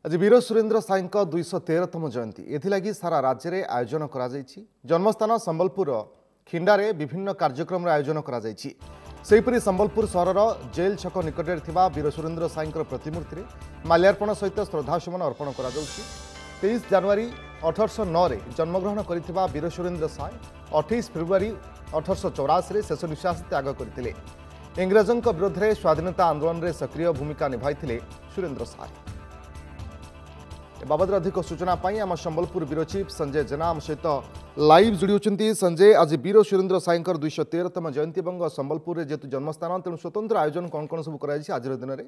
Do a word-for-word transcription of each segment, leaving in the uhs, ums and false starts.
ଆଜି ବୀର ସୁରେନ୍ଦ୍ର ସାଏଙ୍କ ଦୁଇଶହ ତେରତମ ଜୟନ୍ତୀ। ଏଥିଲାଗି ସାରା ରାଜ୍ୟରେ ଆୟୋଜନ କରାଯାଇଛି। ଜନ୍ମସ୍ଥାନ ସମ୍ବଲପୁରର ଖିଣ୍ଡାରେ ବିଭିନ୍ନ କାର୍ଯ୍ୟକ୍ରମର ଆୟୋଜନ କରାଯାଇଛି। ସେହିପରି ସମ୍ବଲପୁର ସହରର ଜେଲ୍ ଛକ ନିକଟରେ ଥିବା ବୀର ସୁରେନ୍ଦ୍ର ସାଏଙ୍କର ପ୍ରତିମୂର୍ତ୍ତିରେ ମାଲ୍ୟାର୍ପଣ ସହିତ ଶ୍ରଦ୍ଧାସୁମନ ଅର୍ପଣ କରାଯାଉଛି। ତେଇଶ ଜାନୁଆରୀ ଅଠରଶହ ନଅରେ ଜନ୍ମଗ୍ରହଣ କରିଥିବା ବୀର ସୁରେନ୍ଦ୍ର ସାଏ ଅଠେଇଶ ଫେବୃଆରୀ ଅଠରଶହ ଚଉରାଅଶୀରେ ଶେଷ ନିଶ୍ୱାସ ତ୍ୟାଗ କରିଥିଲେ। ଇଂରେଜଙ୍କ ବିରୋଧରେ ସ୍ୱାଧୀନତା ଆନ୍ଦୋଳନରେ ସକ୍ରିୟ ଭୂମିକା ନିଭାଇଥିଲେ ସୁରେନ୍ଦ୍ର ସାଏ। ଏ ବାବଦରେ ଅଧିକ ସୂଚନା ପାଇଁ ଆମ ସମ୍ବଲପୁର ବ୍ୟୁରୋ ଚିଫ୍ ସଞ୍ଜୟ ଜେନା ଆମ ସହିତ ଲାଇଭ୍ ଯୋଡ଼ି ହେଉଛନ୍ତି। ସଞ୍ଜୟ, ଆଜି ବୀର ସୁରେନ୍ଦ୍ର ସାଏଙ୍କର ଦୁଇଶହ ତେରତମ ଜୟନ୍ତୀ ଏବଂ ସମ୍ବଲପୁରରେ ଯେହେତୁ ଜନ୍ମସ୍ଥାନ, ତେଣୁ ସ୍ୱତନ୍ତ୍ର ଆୟୋଜନ କ'ଣ କ'ଣ ସବୁ କରାଯାଇଛି ଆଜିର ଦିନରେ?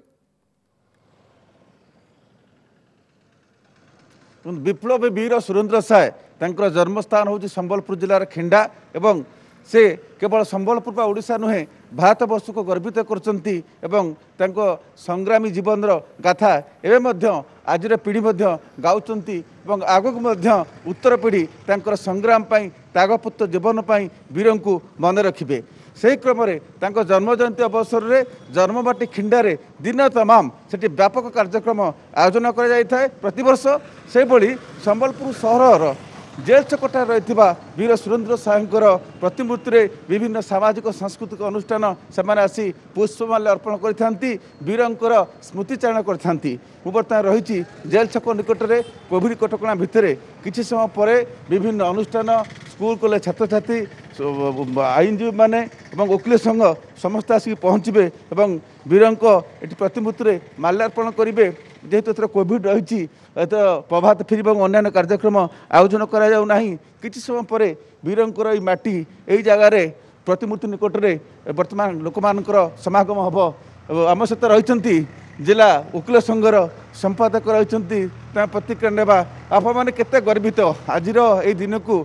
ବିପ୍ଳବୀ ବୀର ସୁରେନ୍ଦ୍ର ସାଏ ତାଙ୍କର ଜନ୍ମସ୍ଥାନ ହେଉଛି ସମ୍ବଲପୁର ଜିଲ୍ଲାର ଖିଣ୍ଡା ଏବଂ ସେ କେବଳ ସମ୍ବଲପୁର ବା ଓଡ଼ିଶା ନୁହେଁ, ଭାରତବର୍ଷକୁ ଗର୍ବିତ କରୁଛନ୍ତି ଏବଂ ତାଙ୍କ ସଂଗ୍ରାମୀ ଜୀବନର ଗାଥା ଏବେ ମଧ୍ୟ ଆଜିର ପିଢ଼ି ମଧ୍ୟ ଗାଉଛନ୍ତି ଏବଂ ଆଗକୁ ମଧ୍ୟ ଉତ୍ତର ପିଢ଼ି ତାଙ୍କର ସଂଗ୍ରାମ ପାଇଁ, ତ୍ୟାଗପୁତ୍ର ଜୀବନ ପାଇଁ ବୀରଙ୍କୁ ମନେ ରଖିବେ। ସେହି କ୍ରମରେ ତାଙ୍କ ଜନ୍ମ ଜୟନ୍ତୀ ଅବସରରେ ଜନ୍ମମାଟି ଖିଣ୍ଡାରେ ଦିନ ତମାମ ସେଠି ବ୍ୟାପକ କାର୍ଯ୍ୟକ୍ରମ ଆୟୋଜନ କରାଯାଇଥାଏ ପ୍ରତିବର୍ଷ। ସେହିଭଳି ସମ୍ବଲପୁର ସହରର ଜେଲ୍ ଛକଠାରେ ରହିଥିବା ବୀର ସୁରେନ୍ଦ୍ର ସାଏଙ୍କର ପ୍ରତିମୂର୍ତ୍ତିରେ ବିଭିନ୍ନ ସାମାଜିକ ସାଂସ୍କୃତିକ ଅନୁଷ୍ଠାନ ସେମାନେ ଆସି ପୁଷ୍ପମାଲ୍ୟ ଅର୍ପଣ କରିଥାନ୍ତି, ବୀରଙ୍କର ସ୍ମୃତିଚାରଣ କରିଥାନ୍ତି। ମୁଁ ବର୍ତ୍ତମାନ ରହିଛି ଜେଲ୍ ଛକ ନିକଟରେ। କୋଭିଡ଼ କଟକଣା ଭିତରେ କିଛି ସମୟ ପରେ ବିଭିନ୍ନ ଅନୁଷ୍ଠାନ, ସ୍କୁଲ କଲେଜ ଛାତ୍ରଛାତ୍ରୀ, ଆଇନଜୀବୀମାନେ ଏବଂ ଓକିଲ ସଂଘ ସମସ୍ତେ ଆସିକି ପହଞ୍ଚିବେ ଏବଂ ବୀରଙ୍କ ଏଠି ପ୍ରତିମୂର୍ତ୍ତିରେ ମାଲ୍ୟାର୍ପଣ କରିବେ। ଯେହେତୁ ଏଥର କୋଭିଡ଼ ରହିଛି, ଏଥର ପ୍ରଭାତ ଫେରି ଏବଂ ଅନ୍ୟାନ୍ୟ କାର୍ଯ୍ୟକ୍ରମ ଆୟୋଜନ କରାଯାଉ ନାହିଁ। କିଛି ସମୟ ପରେ ବୀରଙ୍କର ଏଇ ମାଟି ଏଇ ଜାଗାରେ ପ୍ରତିମୂର୍ତ୍ତି ନିକଟରେ ବର୍ତ୍ତମାନ ଲୋକମାନଙ୍କର ସମାଗମ ହେବ। ଆମ ସହିତ ରହିଛନ୍ତି ଜିଲ୍ଲା ଓକିଲ ସଂଘର ସମ୍ପାଦକ ରହିଛନ୍ତି, ତାଙ୍କ ପ୍ରତିକ୍ରିୟା ନେବା। ଆପଣମାନେ କେତେ ଗର୍ବିତ ଆଜିର ଏଇ ଦିନକୁ,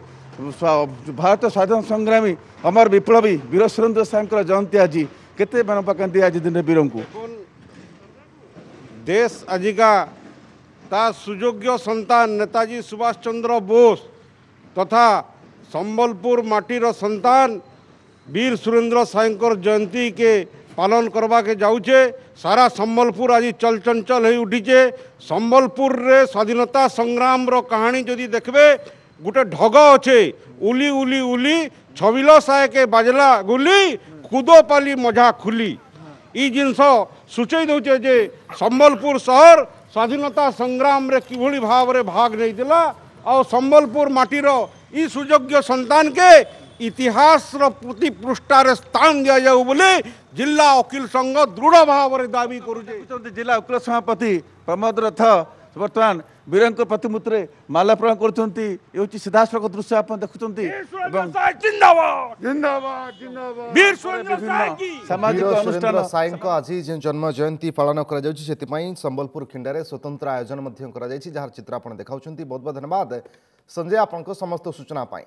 ଭାରତ ସ୍ୱାଧୀନ ସଂଗ୍ରାମୀ ଅମର ବିପ୍ଳବୀ ବୀର ସୁରେନ୍ଦ୍ର ସାଏଙ୍କର ଜୟନ୍ତୀ ଆଜି, କେତେ ମନେ ପକାନ୍ତି ଆଜି ଦିନରେ ବୀରଙ୍କୁ? ଦେଶ ଆଜିକା ତା ସୁଯୋଗ୍ୟ ସନ୍ତାନ ନେତାଜୀ ସୁଭାଷ ଚନ୍ଦ୍ର ବୋଷ ତଥା ସମ୍ବଲପୁର ମାଟିର ସନ୍ତାନ ବୀର ସୁରେନ୍ଦ୍ର ସାଏଙ୍କର ଜୟନ୍ତୀକେ ପାଳନ କରବାକେ ଯାଉଛେ। ସାରା ସମ୍ବଲପୁର ଆଜି ଚଳଚଞ୍ଚଳ ହେଇ ଉଠିଛେ। ସମ୍ବଲପୁରରେ ସ୍ୱାଧୀନତା ସଂଗ୍ରାମର କାହାଣୀ ଯଦି ଦେଖିବେ, ଗୋଟେ ଢଗ ଅଛେ, ଉଲି ଉଲି ଉଲି ଛବିଲ ସାଏକେ ବାଜଲା ଗୁଲି, କୁଦୋପାଲି ମଝା ଖୁଲି। ଇ ଜିନିଷ ସୂଚେଇ ଦେଉଛେ ଯେ ସମ୍ବଲପୁର ସହର ସ୍ୱାଧୀନତା ସଂଗ୍ରାମରେ କିଭଳି ଭାବରେ ଭାଗ ନେଇଥିଲା ଆଉ ସମ୍ବଲପୁର ମାଟିର ଇ ସୁଯୋଗ୍ୟ ସନ୍ତାନକେ ଇତିହାସର ପ୍ରତି ପୃଷ୍ଠାରେ ସ୍ଥାନ ଦିଆଯାଉ ବୋଲି ଜିଲ୍ଲା ଓକିଲ ସଂଘ ଦୃଢ଼ ଭାବରେ ଦାବି କରୁଛେ। ଜିଲ୍ଲା ଓକିଲ ସଭାପତି ପ୍ରମୋଦ ରଥ ବର୍ତ୍ତମାନ ବୀରଙ୍କ ପ୍ରତିମୂର୍ତ୍ତିରେ ମାଲ୍ୟାର୍ପଣ କରୁଛନ୍ତି। ଏ ହେଉଛି ସିଧାସଳଖ ଦୃଶ୍ୟ ଆପଣ ଦେଖୁଛନ୍ତି ଏବଂ ସାମାଜିକ ଅନୁଷ୍ଠାନ ସାଏଙ୍କ ଆଜି ଯେଉଁ ଜନ୍ମ ଜୟନ୍ତୀ ପାଳନ କରାଯାଉଛି, ସେଥିପାଇଁ ସମ୍ବଲପୁର ଖିଣ୍ଡାରେ ସ୍ୱତନ୍ତ୍ର ଆୟୋଜନ ମଧ୍ୟ କରାଯାଇଛି, ଯାହାର ଚିତ୍ର ଆପଣ ଦେଖାଉଛନ୍ତି। ବହୁତ ବହୁତ ଧନ୍ୟବାଦ ସଞ୍ଜୟ ଆପଣଙ୍କ ସମସ୍ତ ସୂଚନା ପାଇଁ।